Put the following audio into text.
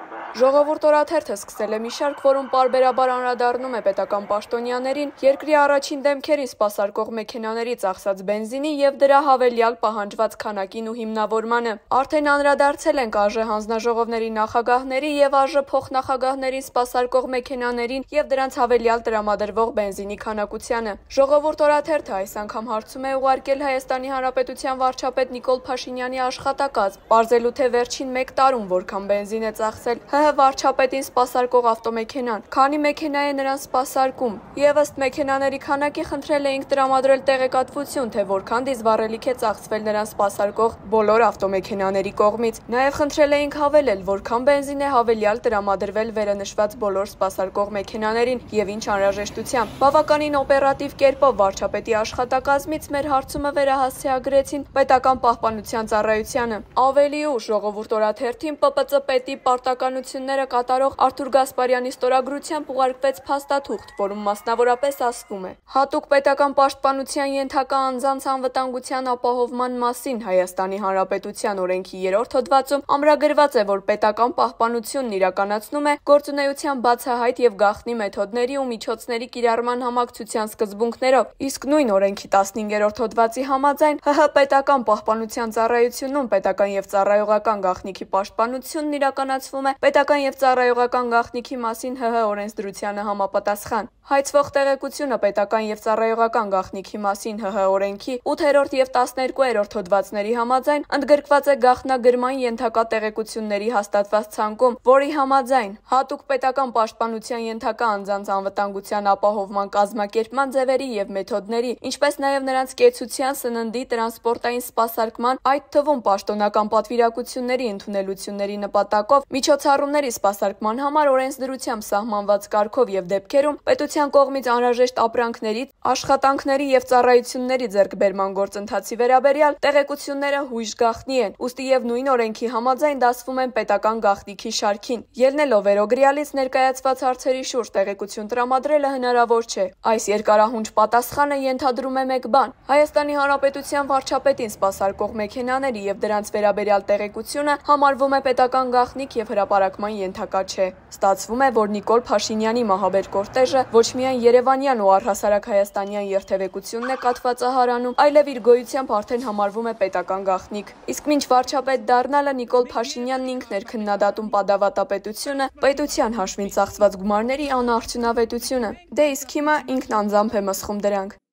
Ժողովուրդ օրաթերթը սկսել է մի շարք, որում պարբերաբար անդրադառնում է պետական պաշտոնյաներին, երկրի առաջին դեմքերին սպասարկող մեքենաների ծախսած բենզինի և դրա հավելյալ պահանջված քանակին ու հիմնավորմանը։ Արդեն անդրադարձել ենք ԱԺ հանձնաժողովների նախագահների և ԱԺ փոխնախագահներին սպասարկող մեքենաներին և դրանց հավելյալ տրամադրվող բենզինի քանակությանը։ Ժողովուրդ օրաթերթը այս անգամ հարցում է ուղարկել Հայաստանի Հանրապետության վարչապետ Նիկոլ Փաշինյանի աշխատակազմ, պարզելու թե վերջին 1 տարում որքան բենզին է ծախսել ՀՀ վարչապետին սպասարկող ավտոմեքենան, քանի մեքենա է նրան սպասարկում, և ըստ մեքենաների քանակի խնդրել էինք տրամադրել տեղեկատվություն, թե որքան դիզվառելիք է ծախսվել նրան սպասարկող բոլոր ավտոմեքենաների կողմից։ Նաև խնդրել էինք հավելել, որքան բենզին է հավելյալ տրամադրվել վերանշված բոլոր սպասարկող մեքենաներին և ինչ անհրաժեշտությամբ։ Բավականին օպերատիվ կերպով վարչապետի աշխատակազմից մեր հարցումը վերահասցեագրեցին պետական պահպանության ծառայությանը։ Ավելի ուշ ժողովուրդ օրաթերթին ՊՊԾ պետի պարտականությունները կատարող Արթուր Գասպարյանի ստորագրությամբ ուղարկվեց փաստաթուղթ, որում մասնավորապես ասվում է. հատուկ պետական պաշտպանության ենթակա անձանց անվտանգության ապահովման մասին Հայաստանի Հանրապետության օրենքի 3-րդ հոդվածում ամրագրված է, որ պետական պահպանությունն իրականացնում է գործունեության բացահայտ և գաղտնի մեթոդների ու միջոցների կիրառման համակցության սկզբունքներով, իսկ նույն օրենքի 15-րդ հոդվածի համաձայն ՀՀ պետական պահպանության ծառայությունում պետական և ծառայողական գաղտնիքի պաշտպանությունն իրականացվում է պետական և ծառայողական գաղտնիքի մասին ՀՀ օրենսդրությանը համապատասխան։ Հայցվող տեղեկությունը պետական և ծառայողական գաղտնիքի մասին ՀՀ օրենքի 8-րդ և 12-րդ հոդվածների համաձայն ընդգրկված է գաղտնագրման ենթակա տեղեկությունների հաստատված ցանկում, որի համաձայն հատուկ պետական պաշտպանության ենթակա անձանց անվտանգության ապահովման կազմակերպման ձևերի և մեթոդների, ինչպես նաև նրանց կեցության, սննդի, տրանսպորտային սպասարկման, այդ թվում պաշտոնական պատվիրակությունների ընդունելությունների նպատակով միջոցառումների սպասարկման համար օրենսդրությամբ սահմանված կարգով և դեպքերում պետության կողմից անհրաժեշտ ապրանքների, աշխատանքների և ծառայությունների ձեռքբերման գործընթացի վերաբերյալ տեղեկությունները հույժ գաղտնի են, ուստի և նույն օրենքի համաձայն դասվում են պետական գաղտնիքի շարքին։ Ելնելով վերոգրյալից ներկայացված հարցերի շուրջ տեղեկություն տրամադրելը հնարավոր չէ։ Այս երկարահունչ պատասխանը ենթադրում է մեկ բան. Հայաստանի Հանրապետության վարչապետին սպասարկող մեքենաների և դրանց վերաբերյալ տեղեկությունը համարվում է պետական գաղտնիք և հրապարակման ենթակա չէ։ Ստացվում է, որ Նիկոլ Փաշինյանի մահաբեր կորտեժը ոչ միայն երևանյան ու առհասարակ հայաստանյան երթևեկությունն է կաթվածահարանում, այլև իր գոյությամբ արդեն համարվում է պետական գաղտնիք։ Իսկ մինչ վարչապետ դառնալը Նիկոլ Փաշինյանն ինքն էր քննադատում պատավատապետությունը, պետության հաշվին ծախսված գումարների անարդյունավետությունը։ Դե իսկ հիմա ինքն անձամբ է մսխում դրանք։